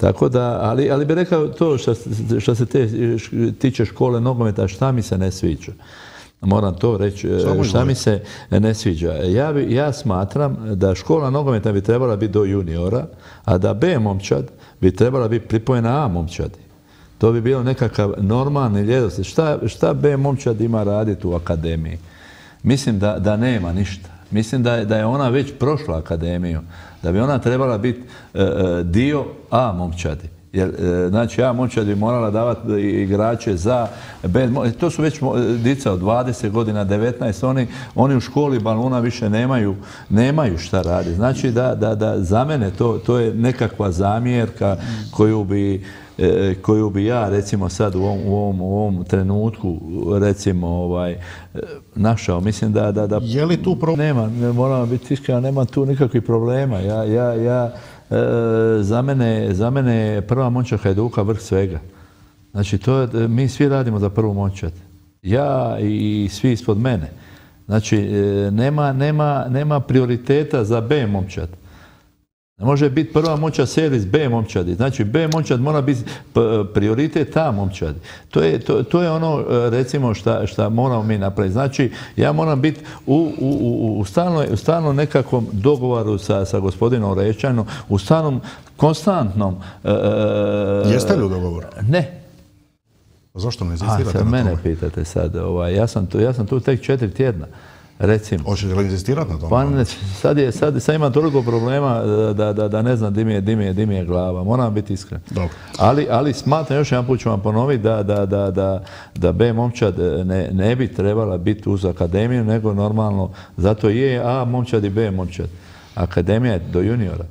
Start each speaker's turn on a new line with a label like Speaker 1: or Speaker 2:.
Speaker 1: Tako da, ali bi rekao to što se tiče škole nogometa, šta mi se ne sviđa. Moram to reći, šta mi se ne sviđa. Ja smatram da škola nogometa bi trebala biti do juniora, a da B momčad bi trebala biti pripojena A momčadi. To bi bilo nekakav normalni ljedosti. Šta B momčad ima raditi u akademiji? Mislim da nema ništa. Mislim da je ona već prošla akademiju. Da bi ona trebala biti dio A momčadi. Jer, znači, A momčad bi morala davati igrače za B. To su već dica od 20 godina, 19. Oni u školi baluna više nemaju šta raditi. Znači da za mene to je nekakva zamjerka koju bi ja recimo sad u ovom trenutku recimo našao. Mislim da
Speaker 2: je li tu problem?
Speaker 1: Nema, moramo biti iskreni, nema tu nikakvih problema. Za mene je prva momčad Hajduka vrh svega. Znači mi svi radimo za prvu momčad. Ja i svi ispod mene. Znači nema prioriteta za B momčad. Ne može biti prva momčad servis B momčadi. Znači B momčad mora biti prioritet A momčadi. To je ono recimo šta moramo mi napraviti. Znači ja moram biti u stalnom nekakvom dogovoru sa gospodinom Orešćanom, u stalnom konstantnom...
Speaker 2: Jeste li u dogovoru?
Speaker 1: Ne.
Speaker 2: Zašto ne insistirate na tome?
Speaker 1: Mene pitate sad. Ja sam tu tek 4 tjedna. Recimo.
Speaker 2: Hoćete li insistirati na tome?
Speaker 1: Pa sad imam toliko problema da ne znam di mi je glava. Moram biti iskren.
Speaker 2: Dobro.
Speaker 1: Ali smatram, još jedan put ću vam ponoviti da B momčad ne bi trebala biti uz akademiju, nego normalno, zato je A momčad i B momčad. Akademija je do juniora.